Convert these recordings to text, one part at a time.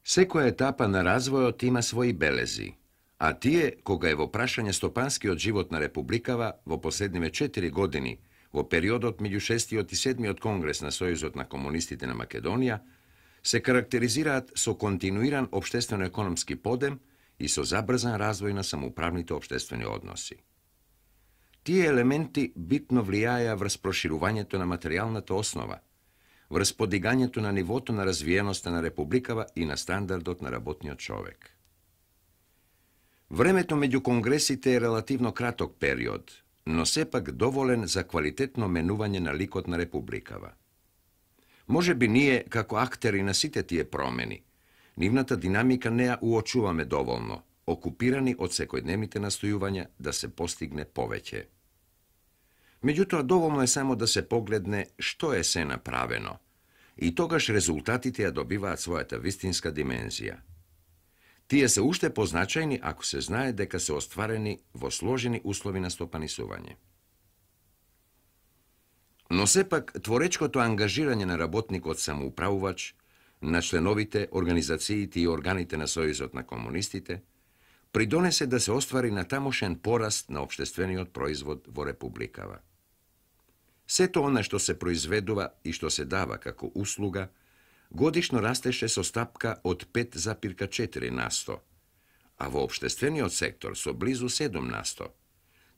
Секоја етапа на развојот има своји белези, а тие, кога е во прашање стопанскиот живот на Републикава во последниве 4 години, во периодот меѓу 6 и 7 конгрес на Сојузот на комунистите на Македонија, се карактеризираат со континуиран општествено-економски подем и со забрзан развој на самоуправните општествени односи. Тие елементи битно влијаеа врз проширувањето на материјалната основа, врз подигањето на нивото на развиеноста на Републикава и на стандардот на работниот човек. Времето меѓу конгресите е релативно краток период, но сепак доволен за квалитетно менување на ликот на Републикава. Може би ние, како актери на сите тие промени, нивната динамика не ја уочуваме доволно, окупирани од секојдневните настојувања да се постигне повеќе. Меѓутоа, доволно е само да се погледне што е се направено, и тогаш резултатите ја добиваат својата вистинска димензија. Тие се уште позначајни ако се знае дека се остварени во сложени услови на стопанисување. Но сепак, творечкото ангажирање на работникот самоуправувач, на членовите, организациите и органите на Сојузот на комунистите, придонесе да се оствари натамошен пораст на општествениот производ во Републикава. Сето она што се произведува и што се дава како услуга, годишно растеше со стапка од 5,4%, а во општествениот сектор со близу 7%,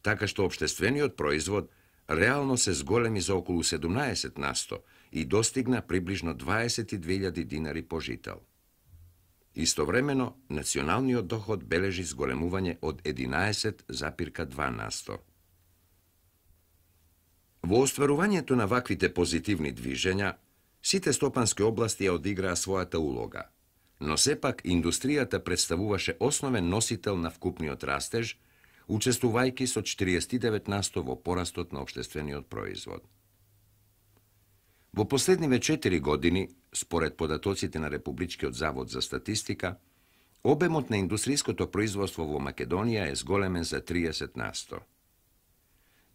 така што општествениот производ реално се зголеми за околу 17% и достигна приближно 22.000 динари по жител. Истовремено, националниот доход бележи зголемување од 11,2%. Во остварувањето на ваквите позитивни движења, сите стопански области ја одиграа својата улога, но сепак индустријата представуваше основен носител на вкупниот растеж, учествувајќи со 49% во порастот на општествениот производ. Во последниве 4 години, според податоците на Републичкиот завод за статистика, обемот на индустријското производство во Македонија е зголемен за 30%.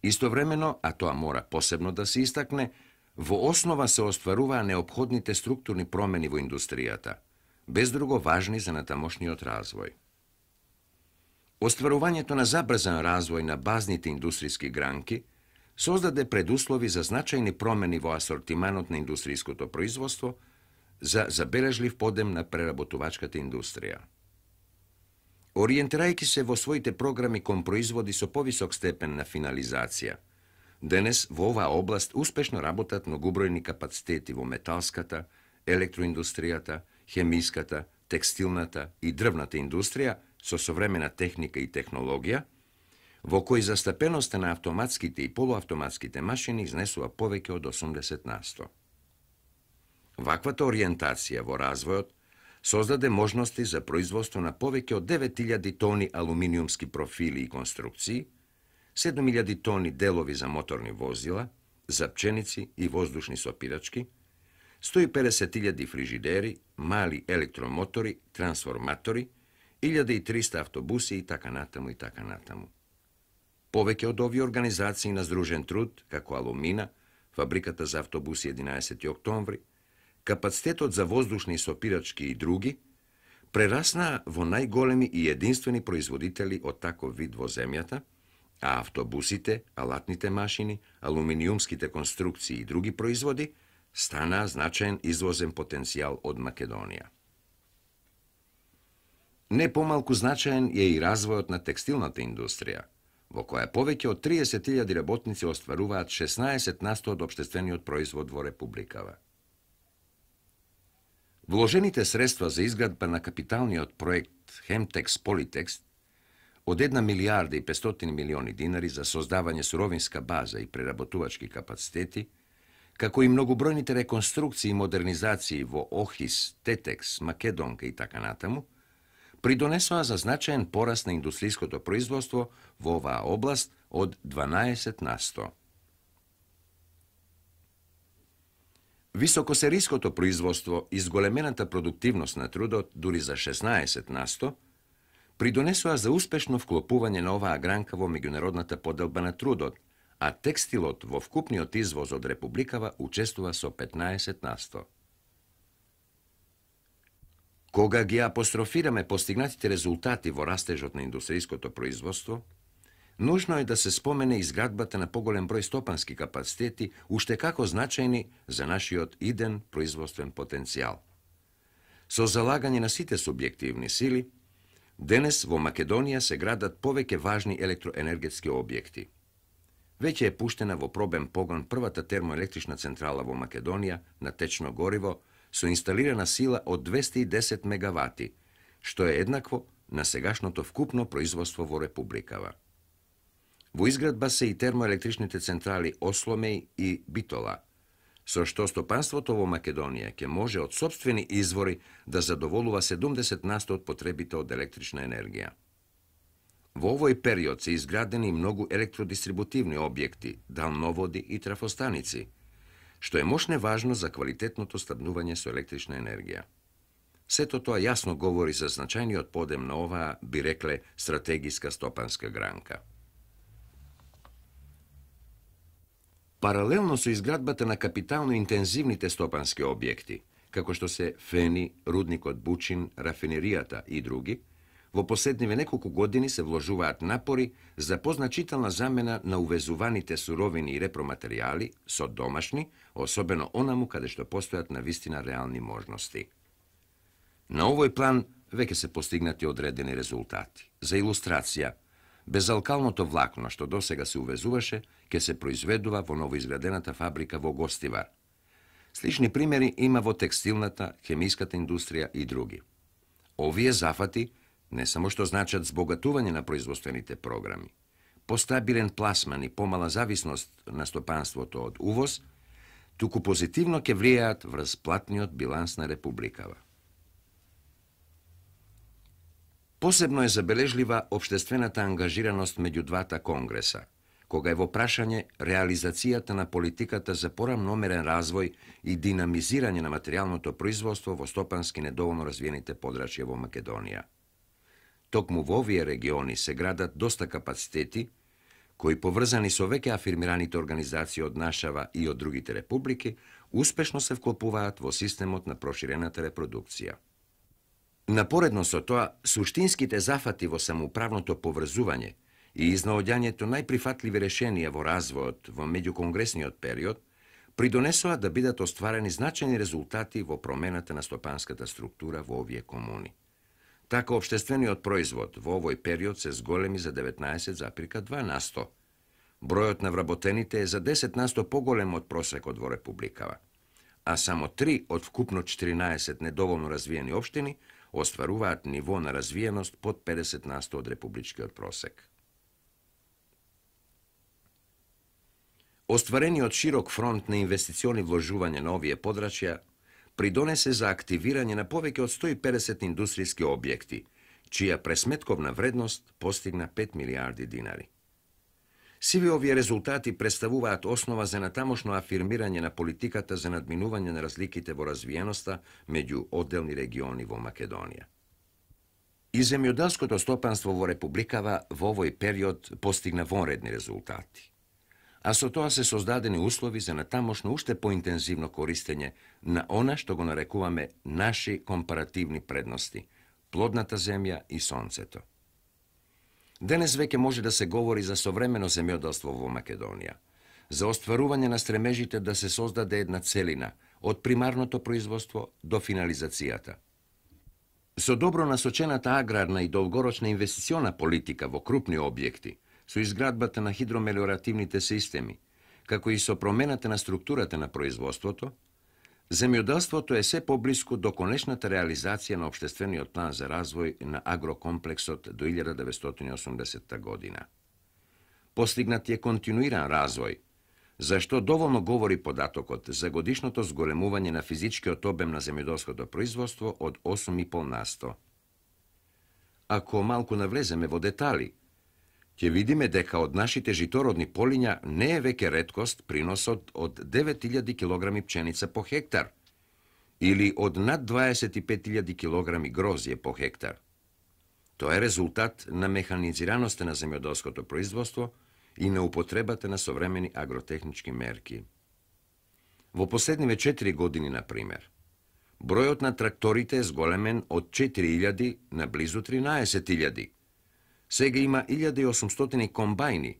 Истовремено, а тоа мора посебно да се истакне, во основа се остваруваа неопходните структурни промени во индустријата, без друго важни за натамошниот развој. Остварувањето на забрзан развој на базните индустријски гранки создаде предуслови за значајни промени во асортиманот на индустријското производство, за забележлив подем на преработувачката индустрија. Ориентирајќи се во своите програми кон производи со повисок степен на финализација, денес во оваа област успешно работат многобројни капацитети во металската, електроиндустријата, хемиската, текстилната и дрвната индустрија со современа техника и технологија, во кој застапеноста на автоматските и полуавтоматските машини изнесува повеќе од 80%. Ваквата ориентација во развојот создаде можности за производство на повеќе од 9000 тони алуминиумски профили и конструкции, 7000 тони делови за моторни возила, за пченици и воздушни сопирачки, 150.000 фрижидери, мали електромотори, трансформатори, 1300 автобуси и така натаму и така натаму. Повеќе од овие организации на здружен труд, како Алумина, Фабриката за автобуси 11. октомври, капацитетот за воздушни сопирачки и други, прераснаа во најголеми и единствени производители од таков вид во земјата, а автобусите, алатните машини, алуминиумските конструкции и други производи станаа значаен извозен потенцијал од Македонија. Не помалку значаен е и развојот на текстилната индустрија, во која повеќе од 30.000 работници остваруваат 16% од општествениот производ во Републикава. Вложените средства за изградба на капиталниот проект Хемтекс Политекс од 1 милијарда и 500 милиони динари за создавање суровинска база и преработувачки капацитети, како и многобројните реконструкции и модернизации во Охис, Тетекс, Македонка и така натаму, придонесоа за значаен пораст на индустријското производство во оваа област од 12%. Високосериското производство и зголемената продуктивност на трудот, дури за 16%, придонесоа за успешно вклопување на оваа гранка во меѓународната поделба на трудот, а текстилот во вкупниот извоз од Републикава учествува со 15%. Кога ги апострофираме постигнатите резултати во растежот на индустријското производство, нужно е да се спомене изградбата на поголем број стопански капацитети, уште како значајни за нашиот иден производствен потенцијал. Со залагање на сите субјективни сили, денес во Македонија се градат повеќе важни електроенергетски објекти. Веќе е пуштена во пробен погон првата термоелектрична централа во Македонија на течно гориво со инсталирана сила од 210 мегавати, што е еднакво на сегашното вкупно производство во Републикава. Во изградба се и термоелектричните централи Осломеј и Битола, со што стопанството во Македонија ќе може од сопствени извори да задоволува 70% од потребите од електрична енергија. Во овој период се изградени многу електродистрибутивни објекти, далноводи и трафостаници, што е мощне важно за квалитетното снабдување со електрична енергија. Сето тоа јасно говори за значајниот подем на оваа, би рекле, стратегиска стопанска гранка. Паралелно со изградбата на капитално интензивните стопански објекти, како што се Фени, рудникот Бучин, рафинеријата и други, во последниве неколку години се вложуваат напори за позначителна замена на увезуваните суровини и репроматеријали со домашни, особено онаму каде што постојат навистина реални можности. На овој план веќе се постигнати одредени резултати. За илустрација, безалкалното влакно што досега се увезуваше, ќе се произведува во новоизградената фабрика во Гостивар. Слични примери има во текстилната, хемиската индустрија и други. Овие зафати не само што значат збогатување на производствените програми, постабилен пласман и помала зависност на стопанството од увоз, туку позитивно ќе влијаат врз платниот биланс на Републикава. Посебно е забележлива општествената ангажираност меѓу двата конгреса, кога е во прашање реализацијата на политиката за порамномерен развој и динамизирање на материјалното производство во стопански недоволно развиените подрачја во Македонија. Токму во овие региони се градат доста капацитети, кои поврзани со веќе афирмираните организации од нашава и од другите републики, успешно се вклопуваат во системот на проширената репродукција. Напоредно со тоа, суштинските зафати во самоуправното поврзување и изнаоѓањето најприфатливи решенија во развојот во меѓуконгресниот период придонесоа да бидат остварени значајни резултати во промената на стопанската структура во овие комуни. Така, општествениот производ во овој период се зголеми за 19,2%. Бројот на вработените е за 10% поголем од просекот во Републикава, а само 3 од вкупно 14 недоволно развиени општини остваруваат ниво на развиеност под 50% од републичкиот просек. Остварениот широк фронт на инвестициони вложување на овие подрачја придонесе за активирање на повеќе од 150 индустријски објекти, чија пресметковна вредност постигна 5 милиарди динари. Сиве овие резултати представуваат основа за натамошно афирмирање на политиката за надминување на разликите во развиеноста меѓу одделни региони во Македонија. И земјоделското стопанство во Републикава во овој период постигна вонредни резултати, а со тоа се создадени услови за натамошно уште поинтензивно користење на она што го нарекуваме наши компаративни предности – плодната земја и сонцето. Денес веќе може да се говори за современо земјоделство во Македонија, за остварување на стремежите да се создаде една целина од примарното производство до финализацијата. Со добро насочената аграрна и долгорочна инвестициона политика во крупни објекти, со изградбата на хидромелиоративните системи, како и со промената на структурата на производството, земјоделството е се поблиску до конечната реализација на општествениот план за развој на агрокомплексот до 1980 година. Постигнат е континуиран развој, зашто доволно говори податокот за годишното зголемување на физичкиот обем на земјоделското производство од 8,5%. Ако малку навлеземе во детали, ќе видиме дека од нашите житородни полиња не е веќе реткост приносот од 9000 килограми пченица по хектар или од над 25.000 килограми грозје по хектар. Тоа е резултат на механизираноста на земјоделското производство и на употребата на современи агротехнички мерки. Во последниве 4 години, например, Бројот на тракторите е зголемен од 4.000 на близу 13.000. Сега има 1.800 комбајни,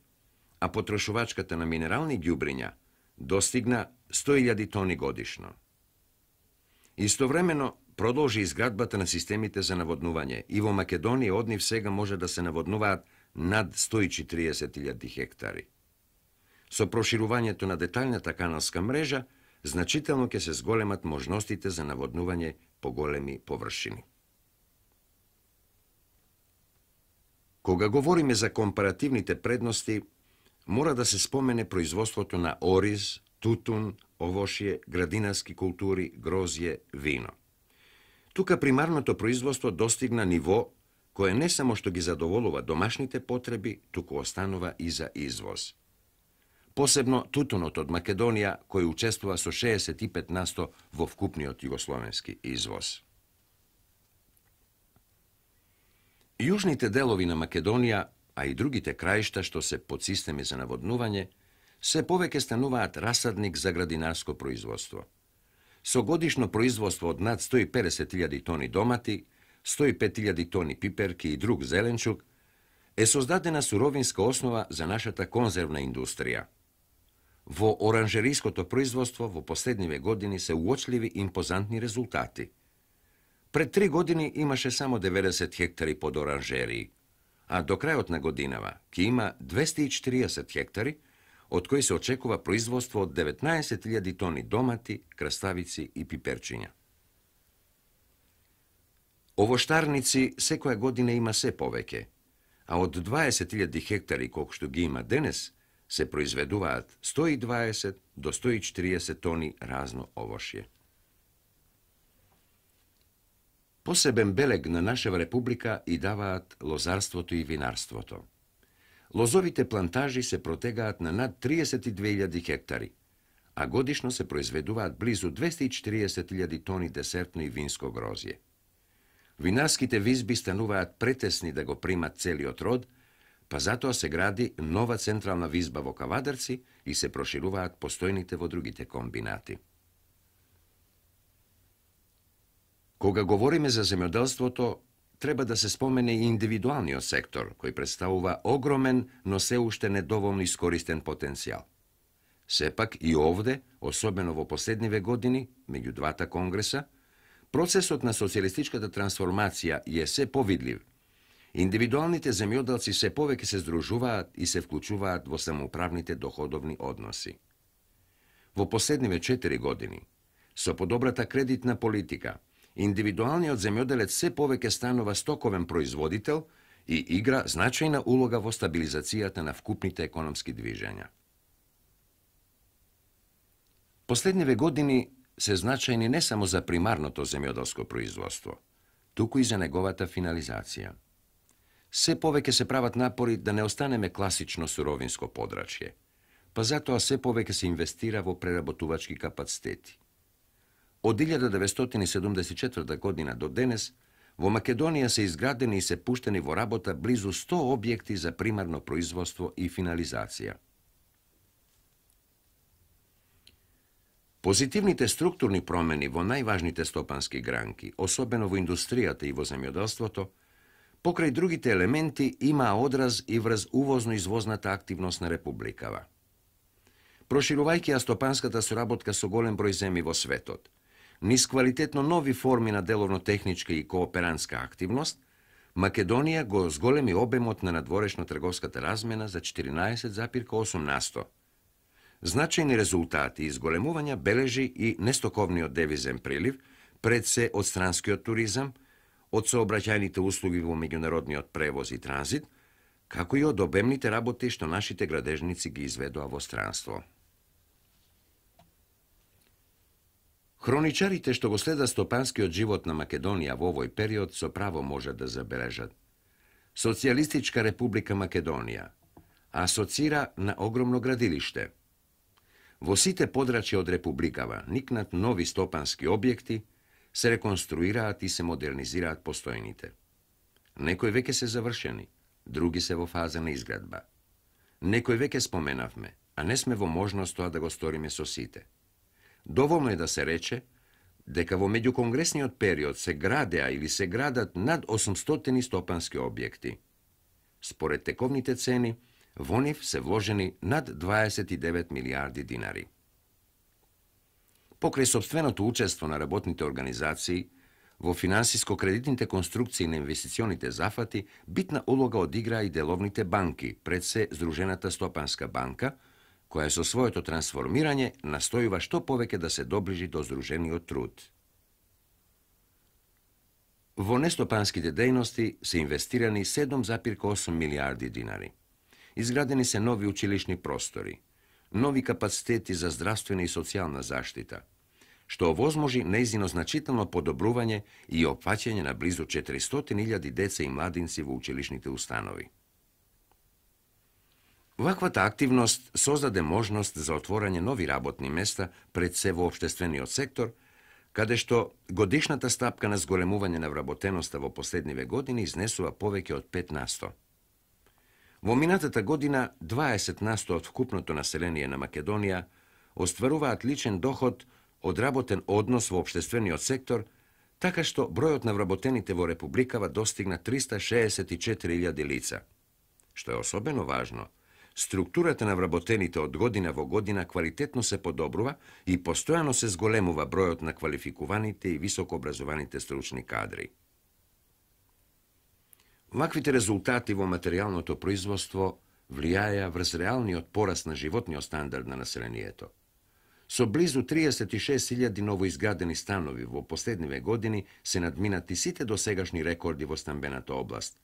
а потрошувачката на минерални ѓубриња достигна 100.000 тони годишно. Истовремено продолжи изградбата на системите за наводнување и во Македонија од нив сега може да се наводнуваат над 140.000 хектари. Со проширувањето на деталната каналска мрежа, значително ќе се зголемат можностите за наводнување по големи површини. Кога говориме за компаративните предности, мора да се спомене производството на ориз, тутун, овошје, градинарски култури, грозје, вино. Тука примарното производство достигна ниво кое не само што ги задоволува домашните потреби, туку останува и за извоз. Посебно тутунот од Македонија, кој учествува со 65% во вкупниот југословенски извоз. Јужните делови на Македонија, а и другите краишта што се под системи за наводнување, се повеќе стануваат расадник за градинарско производство. Со годишно производство од над 150.000 тони домати, 105.000 тони пиперки и друг зеленчук, е создадена суровинска основа за нашата конзервна индустрија. Во оранжериското производство во последниве години се уочливи импозантни резултати. Пред 3 години имаше само 90 хектари под оранжерии, а до крајот на годинава ќе има 240 хектари, од кои се очекува производство од 19.000 тони домати, краставици и пиперчиња. Овоштарници секоја година има се повеќе, а од 20.000 хектари колку што ги има денес, се произведуваат 120 до 140 тони разно овошје. Посебен белег на нашава република и даваат лозарството и винарството. Лозовите плантажи се протегаат на над 32.000 хектари, а годишно се произведуваат близу 240.000 тони десертно и винско грозје. Винарските визби стануваат претесни да го примат целиот род, па затоа се гради нова централна визба во Кавадарци и се прошируваат постојните во другите комбинати. Кога говориме за земјоделството, треба да се спомене и индивидуалниот сектор, кој представува огромен, но се уште недоволно искористен потенцијал. Сепак и овде, особено во последниве години, меѓу двата конгреса, процесот на социјалистичката трансформација е се повидлив. Индивидуалните земјоделци се повеќе се здружуваат и се вклучуваат во самоуправните доходовни односи. Во последниве 4 години, со подобрата кредитна политика, индивидуалниот земјоделец се повеќе станува стоковен производител и игра значајна улога во стабилизацијата на вкупните економски движења. Последниве години се значајни не само за примарното земјоделско производство, туку и за неговата финализација. Се повеќе се прават напори да не останеме класично суровинско подрачје, па затоа се повеќе се инвестира во преработувачки капацитети. Од 1974 година до денес, во Македонија се изградени и се пуштени во работа близу 100 објекти за примарно производство и финализација. Позитивните структурни промени во најважните стопански гранки, особено во индустријата и во земјоделството, покрај другите елементи има одраз и врз увозно-извозната активност на републикава. Проширувајќи ја стопанската соработка со голем број земји во светот, низ квалитетно нови форми на деловно-техничка и кооперантска активност, Македонија го зголеми обемот на надворешно-трговската размена за 14,8%. Значајни резултати и зголемувања бележи и нестоковниот девизен прилив, пред се од странскиот туризам, од сообраќајните услуги во меѓународниот превоз и транзит, како и од обемните работи што нашите градежници ги изведоа во странство. Хроничарите што го следат стопанскиот живот на Македонија во овој период со право можат да забележат. Социјалистичка република Македонија асоцира на огромно градилиште. Во сите подрачја од републикава никнат нови стопански објекти, се реконструираат и се модернизираат постојните. Некои веќе се завршени, други се во фаза на изградба. Некои веќе споменавме, а не сме во можност тоа да го сториме со сите. Доволно е да се рече дека во меѓуконгресниот период се градеа или се градат над 800 стопански објекти. Според тековните цени, во нив се вложени над 29 милиарди динари. Покрај сопственото учество на работните организации, во финансиско-кредитните конструкции на инвестиционите зафати, битна улога одиграа и деловните банки, пред се Здружената стопанска банка, која со своето трансформирање настојува што повеќе да се доближи до здружениот труд. Во нестопанските дејности се инвестирани 7,8 милиарди динари. Изградени се нови училишни простори, нови капацитети за здравствена и социјална заштита, што овозможи нејзино значително подобрување и опфаќање на близу 400.000 деца и младинци во училишните установи. Ваквата активност создаде можност за отворање нови работни места пред се во општествениот сектор, каде што годишната стапка на зголемување на вработеноста во последниве години изнесува повеќе од 5%. Во минатата година 20% од вкупното население на Македонија остваруваат личен доход од работен однос во општествениот сектор, така што бројот на вработените во Републикава достигна 364.000 лица. Што е особено важно, структурата на вработените од година во година квалитетно се подобрува и постојано се зголемува бројот на квалификуваните и високообразованите стручни кадри. Ваквите резултати во материјалното производство влијаја врз реалниот пораст на животниот стандард на населението. Со близу 36.000 новоизградени станови во последниве години се надминати сите досегашни рекорди во стамбената област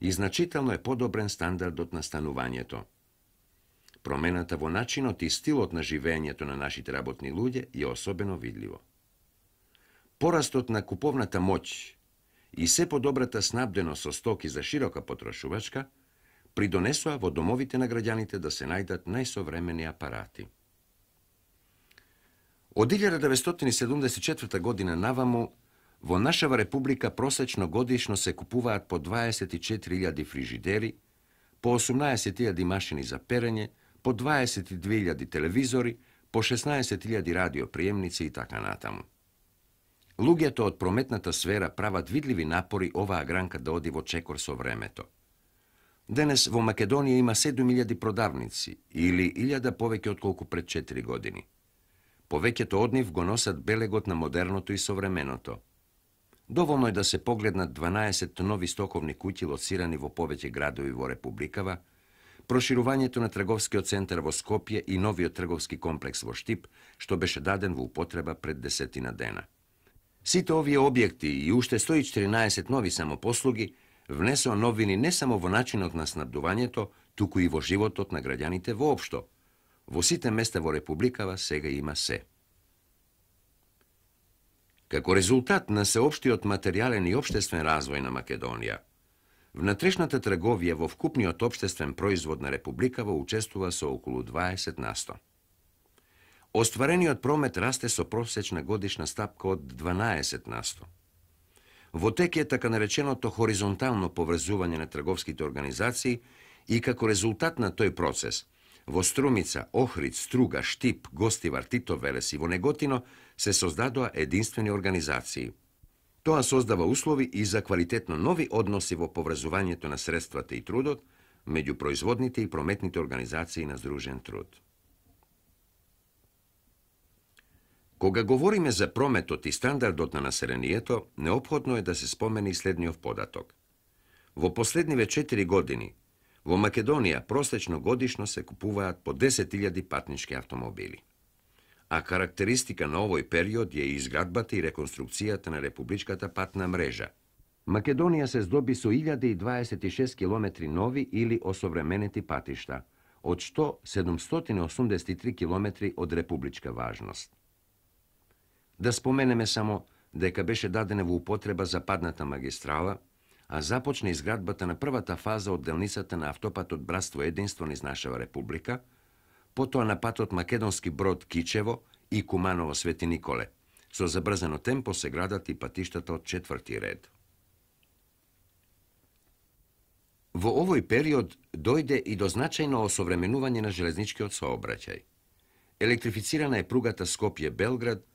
и значително е подобрен стандардот на станувањето. Промената во начинот и стилот на живеењето на нашите работни луѓе е особено видливо. Порастот на куповната моќ и се подобрата снабденост со стоки за широка потрошувачка придонесоа во домовите на граѓаните да се најдат најсовремени апарати. Од 1974 година наваму, во нашава република просечно годишно се купуваат по 24.000 фрижидери, по 18.000 машини за перење, по 22.000 телевизори, по 16.000 радиоприемници и така натаму. Луѓето од прометната сфера прават видливи напори оваа гранка да оди во чекор со времето. Денес во Македонија има 7.000 продавници, или 1.000 повеќе отколку пред 4 години. Повеќето од нив го носат белегот на модерното и современото. Доволно е да се погледнат 12 нови стоковни куќи лоцирани во повеќе градови во Републикава, проширувањето на трговскиот центар во Скопје и новиот трговски комплекс во Штип, што беше даден во употреба пред 10 дена. Сите овие објекти и уште 114 нови самопослуги внесоа новини не само во начинот на снабдувањето, туку и во животот на граѓаните воопшто. Во сите места во Републикава сега има се. Како резултат на сеопштиот материјален и општествен развој на Македонија, внатрешната трговија во вкупниот општествен производ на Републикава учествува со околу 20%. Остварениот промет расте со просечна годишна стапка од 12%. Во тек е така нареченото хоризонтално поврзување на трговските организации и како резултат на тој процес, во Струмица, Охрид, Струга, Штип, Гостивар, Тито Велес и во Неготино се создадоа единствени организации. Тоа создава услови и за квалитетно нови односи во поврзувањето на средствата и трудот меѓу производните и прометните организации на здружен труд. Кога говориме за прометот и стандардот на населението, неопходно е да се спомени следниот податок. Во последниве 4 години, во Македонија просечно годишно се купуваат по 10.000 патнички автомобили. А карактеристика на овој период е изградбата и реконструкцијата на републичката патна мрежа. Македонија се здоби со 1026 километри нови или осовременети патишта, од што 783 километри од републичка важност. Да споменеме само дека беше дадена во употреба западната магистрала, а започна изградбата на првата фаза од делницата на автопатот Братство Единство низ нашава република, потоа на патот Македонски Брод Кичево и Куманово Свети Николе. Со забрзано темпо се градат и патиштата од 4-ти ред. Во овој период дојде и до значајно осовременување на железничкиот сообраќај. Електрифицирана е пругата Скопје-Белград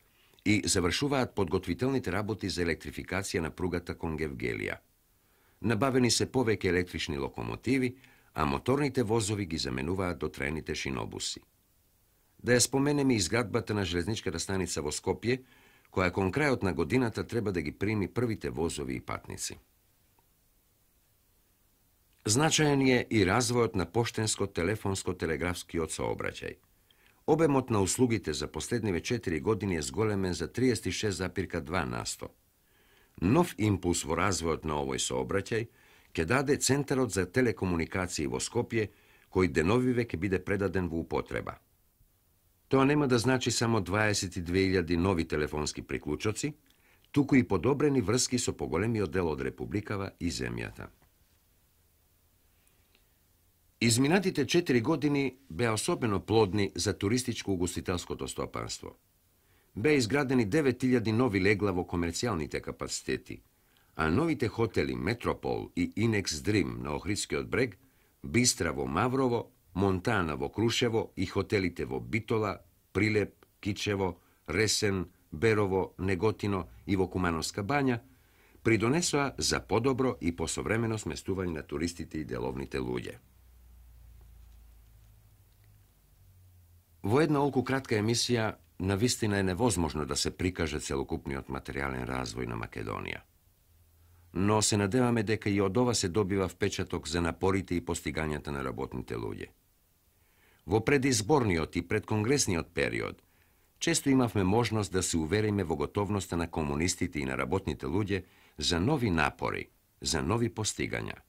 и завршуваат подготвителните работи за електрификација на пругата кон Гевгелија. Набавени се повеќе електрични локомотиви, а моторните возови ги заменуваат дотрајните шинобуси. Да ја споменеме изградбата на железничката станица во Скопје, која кон крајот на годината треба да ги прими првите возови и патници. Значаен е и развојот на поштенско-телефонско-телеграфскиот сообраќај. Обемот на услугите за последниве 4 години е зголемен за 36,2%. Нов импулс во развојот на овој сообраќај ќе даде Центарот за телекомуникации во Скопје, кој деновиве ќе биде предаден во употреба. Тоа нема да значи само 22.000 нови телефонски приклучоци, туку и подобрени врски со поголемиот дел од Републикава и земјата. Изминатите 4 години беа особено плодни за туристичко-угостителското стопанство. Беа изградени 9.000 нови легла во комерцијалните капацитети, а новите хотели Метропол и Инекс Дрим на Охридскиот брег, Бистра во Маврово, Монтана во Крушево и хотелите во Битола, Прилеп, Кичево, Ресен, Берово, Неготино и во Кумановска бања придонесоа за подобро и посовремено сместување на туристите и деловните луѓе. Во една олку кратка емисија, навистина е невозможно да се прикаже целокупниот материјален развој на Македонија. Но се надеваме дека и од ова се добива впечаток за напорите и постигањата на работните луѓе. Во предизборниот и предконгресниот период, често имавме можност да се увериме во готовноста на комунистите и на работните луѓе за нови напори, за нови постигања.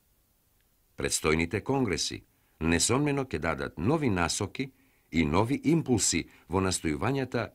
Предстојните конгреси несомнено ќе дадат нови насоки и нови импулси во настојувањата